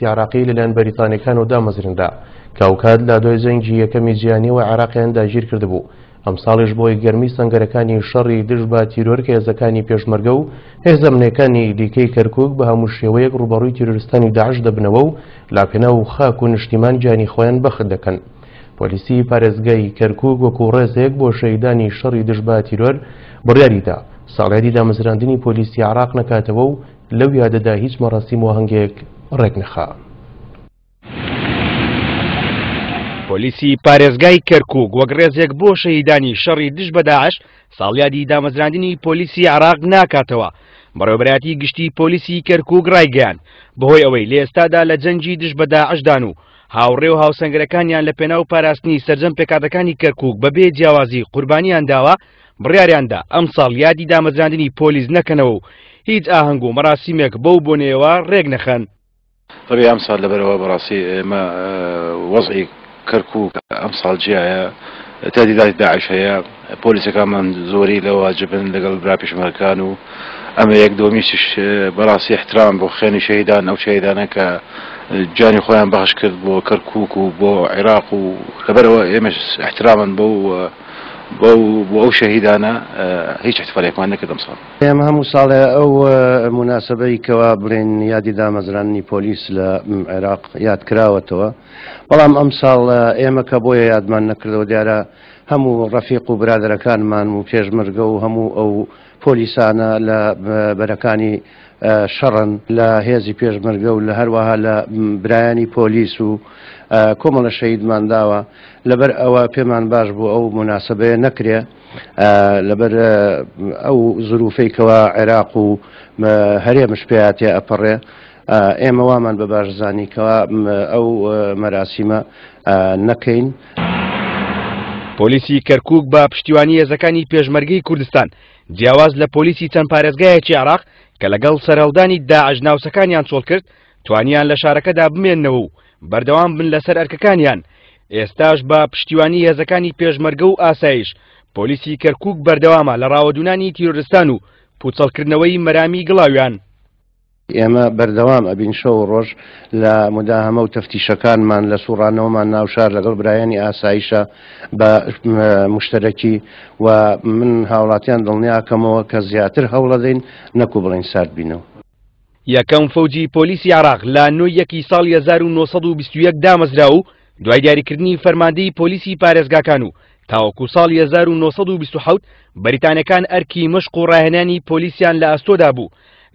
عێراقی لەلایەن بەریتانیەکانەوە دامەزرێنرا کە ئەوکات لە دوای جەنگی یەکەمی جیهانیەوە عێراقیان داگیرکردبوو. ئەمساڵیش بۆی گەرمی سەنگەرەکانی شەڕی دژ بە تیرۆر کە هێزەکانی پێشمەرگە و هێزە ئەمنیەکانی دیکەی کەرکوک بە هەموو شێوەیەک ڕووبەڕووی تیرۆریستانی داعش دەبنەوە و لەپێناو خاک و نیشتیمان گیانی خۆیان بەخت دەکەن. پۆلیسی پارێزگای کەرکوک وەکو ڕێزێک بۆ شەهیدانی شەڕی دژ بە تیرۆر بڕیاریدا ساڵیادی دامەزراندنی پۆلیسی عێراق نەکاتەوە و لەو یادەدا هیچ مەراسیم و ئاهەنگێک ڕێکنەخا. پۆلیسی پارێزگای کەرکوک وەک ڕێزێک بۆ شەهیدانی شەڕی دژ بە داعش ساڵیادی دامەزراندنی پۆلیسی عێراق ناکاتەوە. بەڕێوەبەرایەتی گشتی پۆلیسی کەرکوک ڕایگەیاند، بەهۆی ئەوەی لە ئێستادا لە جەنگی دژ بە داعشدان و هاوڕێ و هاوسەنگەرەکانیان لە پێناو پاراستنی سەرجەم پێکهاتەکانی کەرکوک بەبێ جیاوازی قوربانیان داوە، بڕیاریاندا ئەمساڵ یادی دامەزراندنی پۆلیس نەکەنەوە و هیچ ئاهەنگ و مەراسیمێک بەو بۆنەیەوە ڕێکنەخەن. طبیعی ئەمساڵ لەبەرئەوە بەڕاستی ئێمە وەزعی کەرکوک ئەمساڵ جیایە تهدیداتی داعش هەیە پۆلیسەکانمان زۆری لە واجبن لەگەڵ برا پێشمەرگەکان و ئەمە یەک دووەمیشیش بەڕاستی احترام بۆ خوێنی شەهیدان ئەو شەهیدانە کە گیانی خۆیان بەخش کرد بۆ کەرکوک و بۆ عێراق و لەبەرئەوە ئێمەش احترامن بەو بەو بۆ ئەو شەهیدانە هیچ احتفالێکمان نەکرد ئەمساڵ. ئێمە هەموو ساڵێ ئەو موناسەبەی کەوا بڵێین یادی دامەزراندنی پۆلیس لە عێراق یاد کراوەتەوە، بەڵام ئەمساڵ ئێمە کە بۆیە یادمان نەکردەوە دیارە هەموو ڕەفیق و برادەرەکانمان و پێشمەرگە و هەموو ئەو پۆلیسانە لە بەرەکانی شەڕن لە هێزی پێشمەرگە و لە هەروەها لە برایانی پۆلیس و کۆمەڵە شەهیدمان داوە لەبەر ئەوە پێمان باش بوو ئەو موناسەبەیە نەکرێ لەبەر ئەو زروفەی کەوا عێراق و هەرێمش پێیا تێ ئەپەڕێ ئێمە وامان بە باش زانی کەوا ئەو مەراسیمە نەکەین. پۆلیسی کەرکوک بە پشتیوانی هێزەکانی پێشمەرگەی کوردستان جیاواز لە پۆلیسی چەند پارێزگایەکی عێراق کە لەگەڵ سەرهەڵدانی داعش ناوچەکانیان چۆڵکرد توانیان لە شارەکەدا بمێننەوە و بەردەوام بن لەسەر ئەرکەکانیان، ئێستاش بە پشتیوانی هێزەکانی پێشمەرگە و ئاسایش، پۆلیسی کەرکووک بەردەوامە لە ڕاوەدوونانی تیرۆرستان و پووچەڵکردنەوەی مەرامی گڵاویان. ئێمە بەردەوام ئەبین شەو و ڕۆژ لە موداهەمە و تەفتیشەکانمان، لە سوڕانەوەمان ناو شار لەگەڵ برایانی ئاسایشە بە موشتەرەکی و من هاوڵاتیان دڵنیاکەمەوە کە زیاتر هەوڵەدەین نەکو بڵێین سارد بینەوە. یەکەم فەوجی پۆلیسی عێراق لە نۆ یەکی ساڵی 1921 دامەزرا و دوای دیاریکردنی فەرماندەی پۆلیسی پارێزگاکان و تاوەکو ساڵی 1927 بەریتانەکان ئەرکی مەشق و ڕاهێنانی پۆلیسیان لە ئەستۆدا بوو.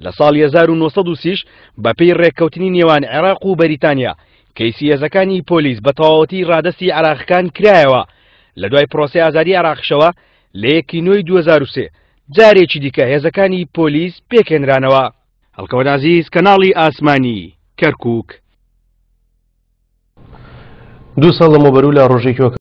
لە ساڵی 1930 بەپێی ڕێککەوتنی نێوان عێراق و بەریتانیا کەیسی هێزەکانی پۆلیس بە تەواوەتی ڕادەستی عێراقەکان کرایەوە. لە دوای پرۆسەی ئازادی عێراقیشەوە لە یەکی نۆی 2003 جارێکی دیکە هێزەکانی پۆلیس پێکهێنرانەوە. هەڵکەوت عەزیز، کەناڵی ئاسمانی، کەرکووک. دوو ساڵ لەمەوبەر و لە ڕۆژێکی وەک.